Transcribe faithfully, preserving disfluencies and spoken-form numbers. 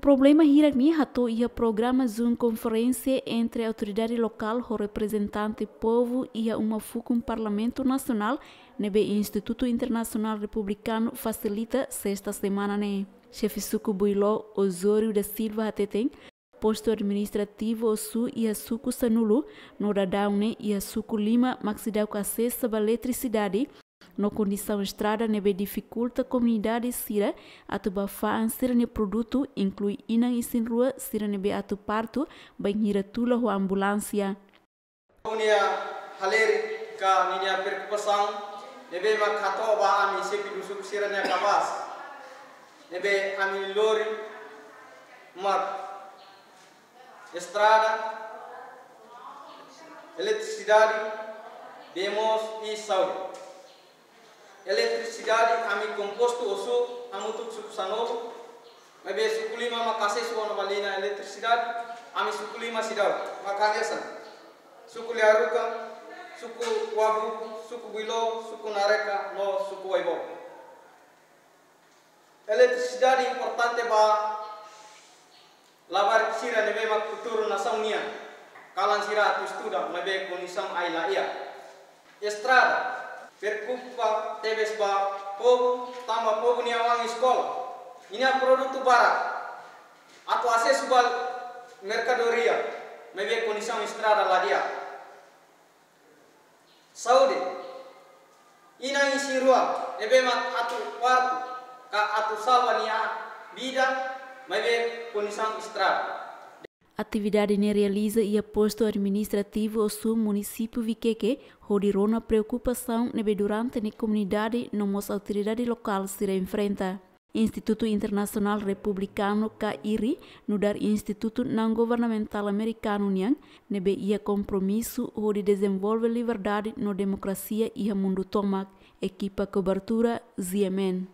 Problema hirak ne'e hato'o iha programa Zoom konferénsia entre autoridade lokál ho reprezentante povu iha uma fukun Parlamentu Nasionál ne'ebé Institutu Internasionál Republikanu fasilita sesta semana ne'e. Xefe suku Builó, Osório da Silva hateten, postu administrativu Ossu iha suku sanulu, no daudaun ne'e iha suku lima mak seidauk asesu ba eletrisidade, no kondisaun estrada ne'ebé difikulta komunidade sira atu ba fa'an sira-nia produtu, inklui inan isin-rua sira ne'ebé atu partu, bainhira tula ho ambulánsia. Ninia halerik ka ninia preokupasaun ne'ebé mak hato'o ba ami xefe suku sira-nia kabaas ne'ebé ami lori mak estrada, eletrisidade, bee moos i saúde. Eletrisidade ami kompostu Ossu hamutuk suku sanulu, maibé suku lima mak asesu ona ba liña eletrisidade, ami suku lima seidauk, mak hanesan suku Liaruka, suku Wabu, suku Builó, suku Nareka, no suku Waibobo. Eletrisidade importante ba labarik sira ne'ebé mak futuru nasaun nian, kalan sira atu estuda, maibé kondisaun ai la iha. Estrada, preokupa tebes ba povu, tanba povu nia oan eskola, ninia produtu barak, atu asesu ba merkadoria, maibé kondisaun estrada la di'ak. Saúde, inan isin-rua ne'ebé mak atu partu ka atu salva nia vida, maibé kondisaun estrada. Atividade ne'e realiza iha postu administrativu Ossu, munisípiu Vikeke, hodi rona preokupasaun ne'ebé durante ne'e komunidade no mós autoridade lokál sira enfrenta. Institutu Internasionál Republikanu ka IRRI, nu'udar institutu naun governamentál amerikanu nian, ne'ebé iha kompromisu hodi dezenvolve liberdade no demokrasia iha mundu tomak. Ekipa kobertura, Z M N.